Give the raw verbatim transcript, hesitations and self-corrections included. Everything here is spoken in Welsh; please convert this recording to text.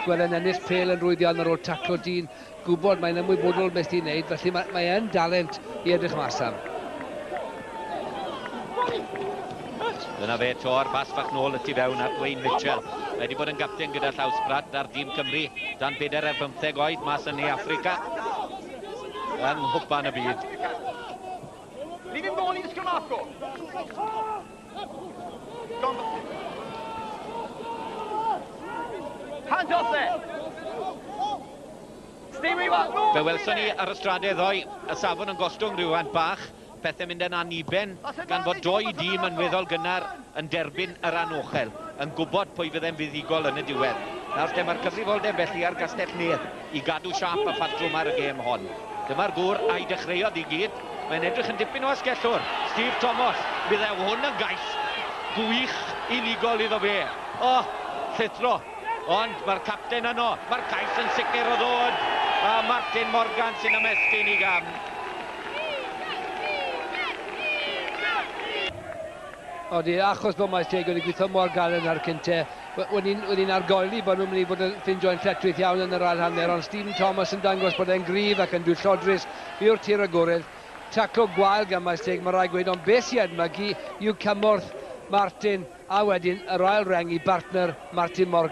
Gweld e'n ennill pêl yn rhwydd iawn ar ôl taclo dyn, gwybod mae'n ymwybodol beth i'n neud, felly mae, mae e'n dalent i edrych mas am. Dyna fe to'r bas fach nôl y tu fewn at Wayne Mitchell. Mae wedi bod yn gapten gyda Llawsbrat ar dîm Cymru dan bedair ar bymtheg oed mas yn Ne Affrica yng Nghwpan y Byd. Leave him go, leave the scrum half go. Hands off there. Stay where you are. Fe welson ni ar y stradau ddoe, y safon yn gostwng rhywfaint bach, pethau mynd yn aniben, gan fod doi dîm yn weddol gynnar yn derbyn yr anochel, yn gwybod pwy fydde'n fuddugol yn y diwedd. Nawr te mae'r cyfrifoldeb felly ar Gastell Nedd i gadw siâp a phatrwm ar y gêm hon. Dyma'r gŵr a'i dechreuodd i gyd. Mae'n edrych yn dipyn o asgellwr. Steve Thomas, bydde hwn yn gais gwych unigol iddo fe. O, oh, llithro. Ond mae'r capten yno, mae'r cais yn sicr o ddod. A Martin Morgan sy'n ymestyn i gam. Odi, achos bod Maesteg wedi gweithio mor galed ar cynte, wedi'n argoeli bod nhw'n mynd i fod yn ffindio'n lletchwith iawn yn yr ail hanner, ond Stephen Thomas yn dangos bod e'n gryf ac yn dwyllodrus i'r tir agored. Taclo gwael gan Maesteg, mae rhaid gweud, ond beth sy'n edmygu yw cymorth Martin a wedyn yr ail reng i bartner Martin Morgan.